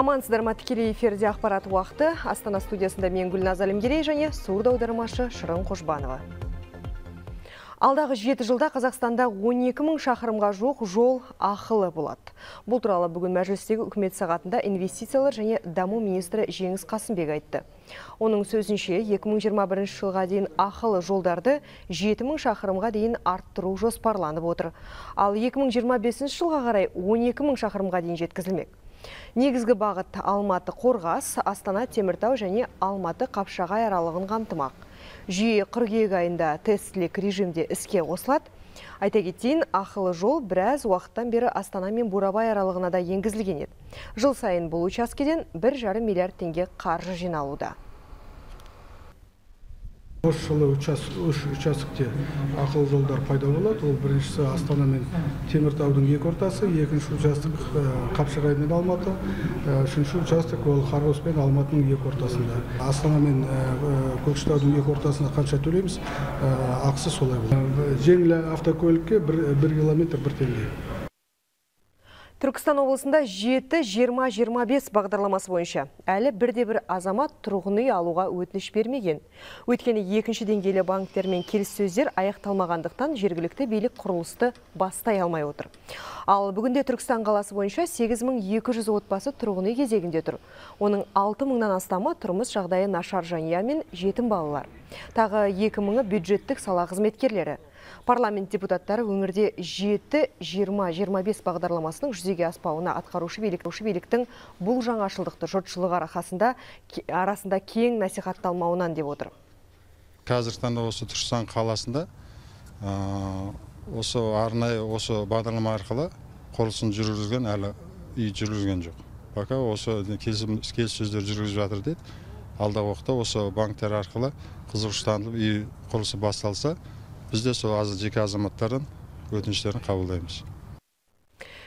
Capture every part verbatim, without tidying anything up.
Амансыздар ма, тікелей эфирде ақпарат уақыты. Астана студиясында мен Гүлназ Әлімгерей және сурда аудармашы Шырын Қожбанова. Алдағы жеті жылда Қазақстанда он екі мың шақырымға жоқ жол ақылы болады. Бұл туралы бүгін мәжілістегі үкімет сағатында инвестициялар және даму министрі Жеңіс Қасымбек айтты. Оның сөзінше екі мың жиырма бірінші жылға дейін ақылы жолдарды жеті мың шақырымға дейін арттыру жоспарланып отыр. Ал екі мың жиырма бесінші жылға қарай он екі мың шақырымға дейін жеткізілмек. Негізгі бағыт Алматы Қорғас, Астана Теміртау және Алматы Қапшағай аралығын қамтымақ. Жүйе қыркүйек айында тестілік режимде іске қосылады. Айта кетейін, ақылы жол біраз уақыттан бері Астана мен Бурабай аралығына да енгізілген еді. Жыл сайын бұл учаскеден бір жарым миллиард теңге қаржы жиналуда. Осы жылы участокте ақылы жолдар пайда болады. Ол біріншісі Астана мен Теміртаудың екі ортасы, екінші участок Қапшағай мен Алматы, үшінші участок ол Қарғыс пен Алматының екі ортасында. Астана мен Көкшетаудың екі ортасына қанша төлейміз, ақысы солай болады. Жеңіл автокөлікке бір километр бір теңге. Түркістан облысында жеті жиырма жиырма бес бағдарламасы бойынша әлі бірде-бір азамат тұрғын үй алуға өтініш бермеген. Өйткені екінші деңгейлі банктермен келіссөздер аяқталмағандықтан жергілікті билік құрылысты бастай алмай отыр. Ал бүгінде Түркістан қаласы бойынша сегіз мың екі жүз отбасы тұрғын үй кезегінде тұр. Оның алты мыңнан астамы тұрмыс жағдайы нашар жанұя мен жетім балалар. Тағы екі мыңы бюджеттік сала қызметкерлері. Парламент депутаттары өңірде жеті жиырма жиырма бес бағдарламасының жүзеге аспауына атқарушы биліктің бұл жаңашылдықты жұртшылық арқасында арасында кең насихатталмауынан деп отыр. Қазіргі таңда осы Түркістан қаласында осы арнайы осы бағдарлама арқылы құрылысын жүргізген әлі үй жүргізген жоқ. Пока осы келіссөздер жүргізіп жатыр дейді. Алдағы уақытта осы банктер арқылы қызығыштанып үй құрылысы басталса, бізде сол азы жеке азаматтардың өтініштерін қабылдаймыз.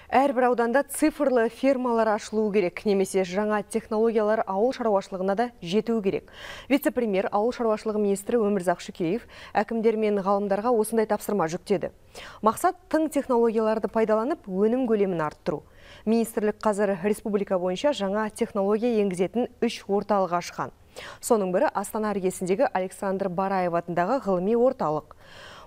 Әрбір ауданда цифрлы фермалар ашылуы керек, немесе жаңа технологиялар ауыл шаруашылығына да жетуі керек. Вице-премьер ауыл шаруашылығы министрі Өмірзақ Шүкеев әкімдер мен ғалымдарға осындай тапсырма жүктеді. Мақсат тың технологияларды пайдаланып, өнім көлемін арттыру. Министрлік қазір республика бойынша жаңа технология енгізетін үш орталық ашқан. Соның бірі Астана іргесіндегі Александр Бараев атындағы ғылыми орталық.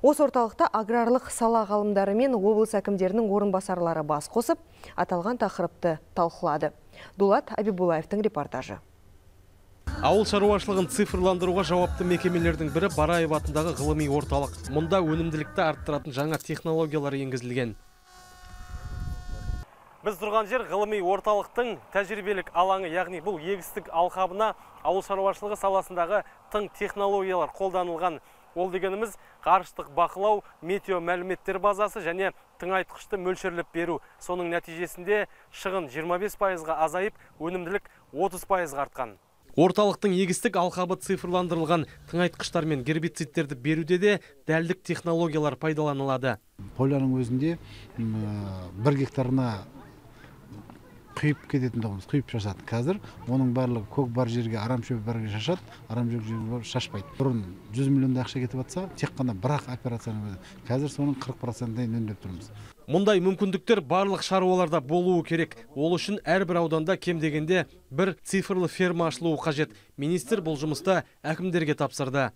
Осы орталықта аграрлық сала ғалымдары мен облыс әкімдерінің орынбасарлары бас қосып, аталған тақырыпты талқылады. Дулат Абибулаевтың репортажы. Ауыл шаруашылығын цифрландыруға жауапты мекемелердің бірі Бараев атындағы ғылыми орталық. Мұнда өнімділікті арттыратын жаңа технологиялар енгізілген. Біз тұрған жер ғылыми орталықтың тәжірибелік алаңы, яғни бұл егістік алқабына ауыл шаруашылығы саласындағы тың технологиялар қолданылған. Ол дегеніміз ғарыштық бақылау, метео мәліметтер базасы және тыңайтқышты мөлшерлеп беру. Соның нәтижесінде шығын жиырма бес пайызға азайып, өнімділік отыз пайызға артқан. Орталықтың егістік алқабы цифрландырылған, тыңайтқыштар мен гербицидтерді беруде де дәлдік технологиялар пайдаланылады. Поляның өзінде бір гектарына құйып кететін доғымыз, құйып шашады. Қазір оның барлығы көк бар жерге арам шөп бәрге шашады, арам шөп жерге шашпайды. Бұрын жүз миллион ақша кетіп атса, тек қана бір-ақ операцияның өзі. Қазір соның қырық процентін үнемдеп тұрмыз. Мұндай мүмкіндіктер барлық шаруаларда болуы керек. Ол үшін әрбір ауданда кем дегенде бір цифрлы ферма ашылуы қажет. Министр бұл жұмысты әкімдерге тапсырды.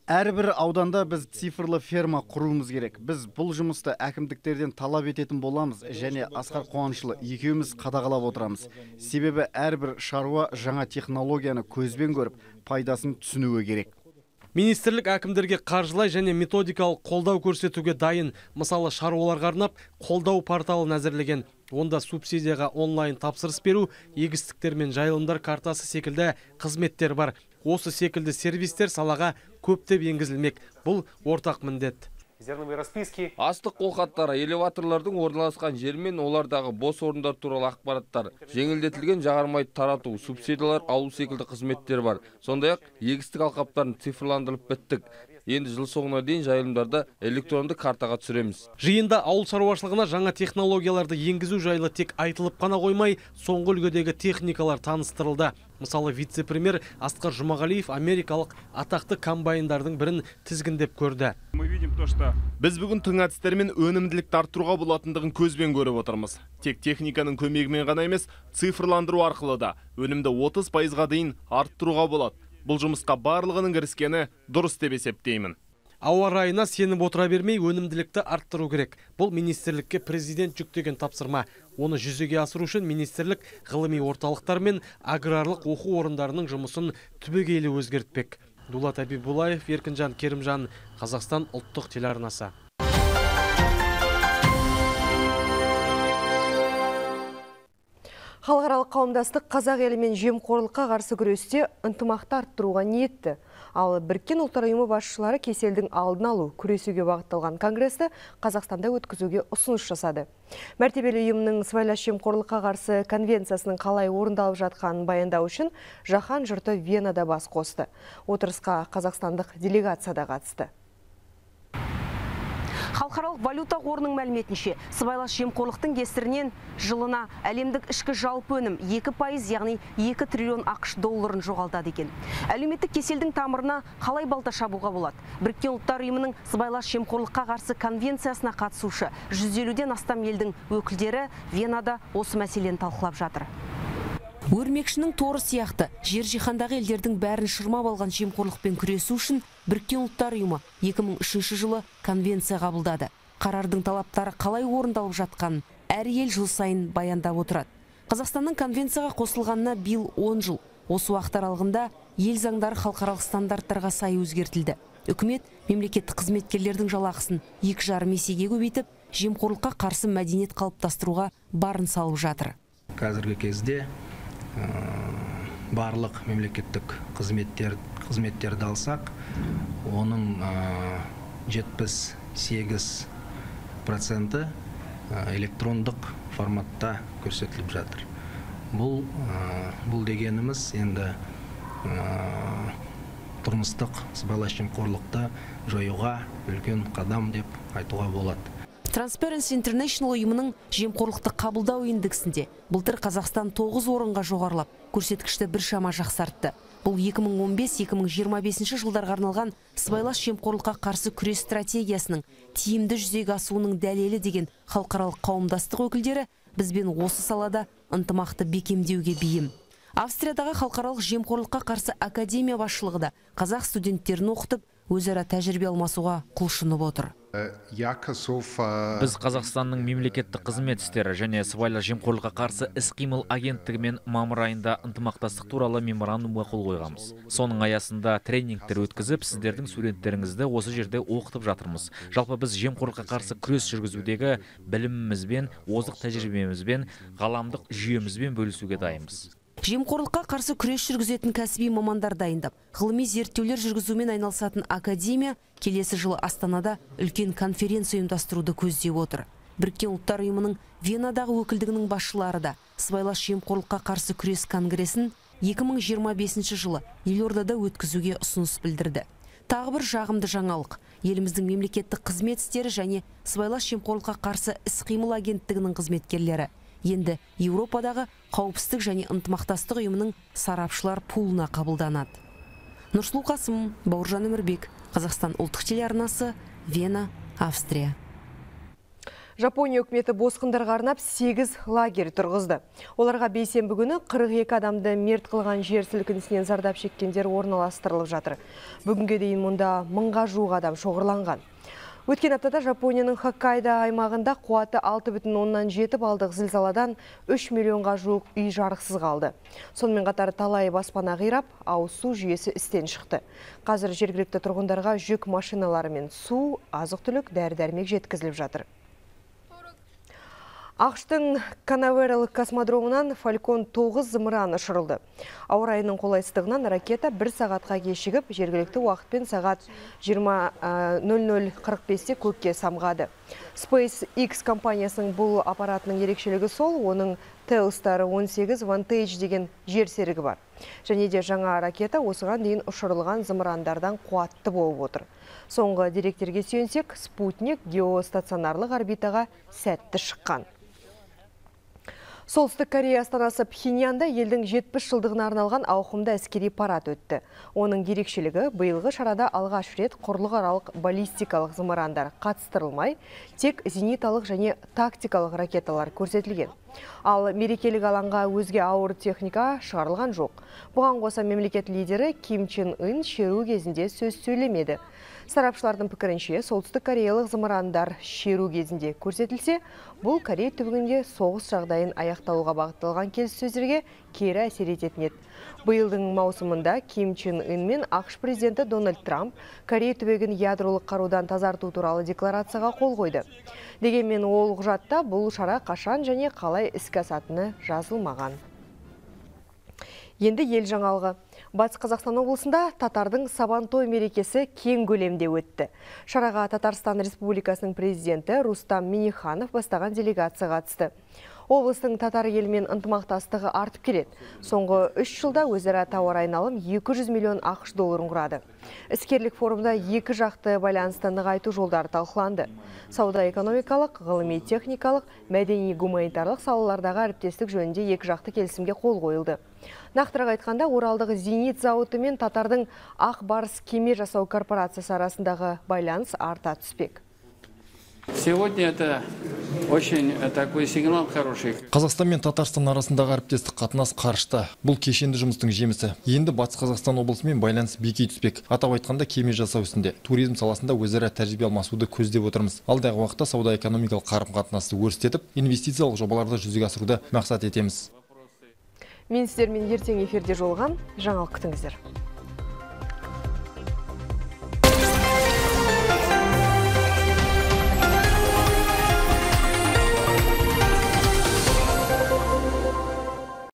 Әрбір ауданда біз цифрлы ферма құруымыз керек. Біз бұл жұмысты әкімдіктерден талап ететін боламыз және Асқар Қуанышұлы екеуміз қадағалап отырамыз. Себебі әрбір шаруа жаңа технологияны көзбен көріп, пайдасын түсінуі керек. Министрлік әкімдерге қаржылай және методикалық қолдау көрсетуге дайын. Мысалы, шаруаларға арнап қолдау порталын әзірлеген. Онда субсидияға онлайн тапсырыс беру, егістіктер мен жайылымдар картасы секілді қызметтер бар. Осы секілді сервистер салаға көптеп енгізілмек. Бұл ортақ міндет. Астық қолхаттары, элеваторлардың орналасқан жер мен олардағы бос орындар туралы ақпараттар, жеңілдетілген жағармайды тарату, субсидиялар алу секілді қызметтер бар. Сондай-ақ егістік алқаптарын цифрландырып біттік. Енді жыл соңына дейін жайылымдарды электронды картаға түсіреміз. Жиында ауыл шаруашылығына жаңа технологияларды енгізу жайлы тек айтылып қана қоймай, соңғы үлгідегі техникалар таныстырылды. Мысалы, вице-премьер Асқар Жұмағалиев америкалық атақты комбайндардың бірін тізгіндеп көрді. Біз бүгін тың әдістермен өнімділікті арттыруға болатындығын көзбен көріп отырмыз. Тек техниканың көмегімен ғана емес, цифрландыру арқылы да өнімді отыз пайызға дейін арттыруға болады. Бұл жұмысқа барлығының кіріскені дұрыс деп есептеймін. Ауа райына сеніп отыра бермей өнімділікті арттыру керек. Бұл министрлікке президент жүктеген тапсырма. Оны жүзеге асыру үшін министрлік ғылыми орталықтар мен аграрлық оқу орындарының жұмысын түбегейлі өзгертпек. Дулат Абибулаев, Еркінжан Керімжан, Қазақстан ұлттық телеарнасы. Халықаралық қауымдастық қазақ елімен жемқорлыққа қарсы күресте ынтымақты арттыруға ниетті. Ал Біріккен ұлттар ұйымы басшылары кеселдің алдын алу, күресуге бағытталған конгрессті Қазақстанда өткізуге ұсыныс жасады. Мәртебелі ұйымның сыбайлас жемқорлыққа қарсы конвенциясының қалай орындалып жатқанын баяндау үшін жаһан жұрты Венада бас қосты. Отырысқа қазақстандық делегация да қатысты. Халықаралық валюта қорының мәліметінше, сыбайлас жемқорлықтың кесірінен жылына әлемдік ішкі жалпы өнім екі пайыз, яғни екі триллион ақш долларын жоғалтады екен. Әлеуметтік кеселдің тамырына қалай балта шабуға болады? Біріккен ұлттар ұйымының сыбайлас жемқорлыққа қарсы конвенциясына қатысушы жүз елуден астам елдің өкілдері Венада осы мәселені талқылап жатыр. Өрмекшінің торы сияқты жер жиһандағы елдердің бәрін шырмап алған жемқорлықпен күресу үшін Біріккен ұлттар ұйымы екі мың үшінші жылы конвенция қабылдады. Қарардың талаптары қалай орындалып жатқанын әр ел жыл сайын баяндап отырады. Қазақстанның конвенцияға қосылғанына биыл он жыл. Осы уақыт аралығында ел заңдары халықаралық стандарттарға сай өзгертілді. Үкімет мемлекеттік қызметкерлердің жалақысын екі жарым есеге көбейтіп, жемқорлыққа қарсы мәдениет қалыптастыруға барын салып жатыр. Қазіргі кезде барлық мемлекеттік қызметтер қызметтерді алсақ, оның жетпіс сегіз проценті электрондық форматта көрсетіліп жатыр. Бұл бұл дегеніміз енді тұрмыстық сыбайлас жемқорлықты жоюға үлкен қадам деп айтуға болады. Transparency International ұйымының жемқорлықты қабылдау индексінде былтыр Қазақстан тоғыз орынға жоғарылап, көрсеткішті біршама жақсартты. Бұл екі мың он бес - екі мың жиырма бесінші жылдарға арналған сыбайлас жемқорлыққа қарсы күрес стратегиясының тиімді жүзеге асуының дәлелі деген халықаралық қауымдастық өкілдері бізбен осы салада ынтымақты бекемдеуге бейім. Австриядағы халықаралық жемқорлыққа қарсы академия басшылығы да қазақ студенттерін оқытып, өзара тәжірибе алмасуға құлшынып отыр. Біз Қазақстанның мемлекеттік қызмет істері және сыбайлас жемқорлыққа қарсы іс-қимыл агенттігімен мамыр айында ынтымақтастық туралы меморандумға қол қойғанбыз. Соның аясында тренингтер өткізіп, сіздердің студенттеріңізді осы жерде оқытып жатырмыз. Жалпы біз жемқорлыққа қарсы күрес жүргізудегі білімімізбен, озық тәжірибемізбен, ғаламдық жүйемізбен бөлісуге дайынбыз. Жемқорлыққа қарсы күрес жүргізетін кәсіби мамандар дайындап, ғылыми зерттеулер жүргізумен айналысатын академия келесі жылы Астанада үлкен конференция ұйымдастыруды көздеп отыр. Біріккен ұлттар ұйымының Венадағы өкілдігінің басшылары да сыбайлас жемқорлыққа қарсы күрес конгресін екі мың жиырма бесінші жылы Елордада өткізуге ұсыныс білдірді. Тағы бір жағымды жаңалық, еліміздің мемлекеттік қызмет істері және сыбайлас жемқорлыққа қарсы іс-қимыл агенттігінің қызметкерлері енді Еуропадағы қауіпсіздік және ынтымақтастық ұйымының сарапшылар пулына қабылданады. Нұрсұлу Қасым, Бауыржан Өмірбек, Қазақстан ұлттық телеарнасы, Вена, Австрия. Жапония үкіметі босқындарға арнап сегіз лагерь тұрғызды. Оларға бейсенбі күні қырық екі адамды мерт қылған жер сілкінісінен зардап шеккендер орналастырылып жатыр. Бүгінге дейін мұнда мыңға жуық адам шоғырланған. Өткен аптада Жапонияның Хоккайдо аймағында қуаты алты бүтін оннан жеті балдық зілзаладан үш миллионға жуық үй жарықсыз қалды. Сонымен қатар талай баспана қирап, ауыз су жүйесі істен шықты. Қазір жергілікті тұрғындарға жүк машиналары мен су, азық-түлік, дәрі-дәрмек жеткізіліп жатыр. Ақштың Канаверал космодромынан Фалькон тоғыз зымыран ұшырылды. Ауа райының қолайсыздығынан ракета бір сағатқа кешігіп, жергілікті уақытпен сағат жиырма нөл нөл қырық бесте көкке самғады. SpaceX компаниясының бұл аппаратының ерекшелігі сол, оның Telstar он сегіз Vantage деген жер серігі бар. Және де жаңа ракета осыған дейін ұшырылған зымырандардан қуатты болып отыр. Соңғы деректерге сүйенсек, спутник геостационарлық орбитаға сәтті шыққан. Солтүстік Корея астанасы Пхеньянда елдің жетпіс жылдығына арналған ауқымды әскери парад өтті. Оның ерекшелігі биылғы шарада алғаш рет құрлықаралық баллистикалық зымырандар қатыстырылмай, тек зениталық және тактикалық ракеталар көрсетілген. Ал мерекелік алаңға өзге ауыр техника шығарылған жоқ. Бұған қоса мемлекет лидері Ким Чен Ын шеру кезінде сөз сөйлемеді. Сарапшылардың пікірінше, солтүстік кореялық зымырандар шеру кезінде көрсетілсе, бұл Корей түбегінде соғыс жағдайын аяқталуға бағытталған келіссөздерге кері әсер ететін еді. Биылдың маусымында Ким Чен Ын мен ақш президенті Дональд Трамп Корей түбегін ядролық қарудан тазарту туралы декларацияға қол қойды. Дегенмен ол құжатта бұл шара қашан және қалай іске асатыны жазылмаған. Енді ел жаңалығы. Батыс Қазақстан облысында татардың Сабантой мерекесі кең көлемде өтті. Шараға Татарстан Республикасының президенті Рустам Минниханов бастаған делегация қатысты. Облыстың татар елімен ынтымақтастығы артып келеді. Соңғы үш жылда өзара тауар айналым екі жүз миллион ақш долларын құрады. Іскерлік форумда екі жақты байланысты нығайту жолдары талқыланды. Сауда-экономикалық, ғылыми-техникалық, мәдени-гуманитарлық салалардағы әріптестік жөнінде екі жақты келісімге қол қойылды. Нақтырақ айтқанда, Оралдағы зенит зауыты мен Татардың Ақ Барыс кеме жасау корпорациясы арасындағы байланыс арта түспек. Сегодня это очень такой сигнал хороший. Қазақстан мен Татарстан арасындағы әріптестік қатынас қарышты. Бұл кешенді жұмыстың жемісі. Енді Батыс Қазақстан облысымен байланыс бекей түспек. Атап айтқанда кеме жасау ісінде, туризм саласында өзара тәжірибе алмасуды көздеп отырмыз. Алдағы уақытта сауда-экономикалық қарым-қатынасты өрістетіп, инвестициялық жобаларды жүзеге асыруды мақсат етеміз. Мен сіздермен ертең эфирде жолған, жаңалық күтіңіздер.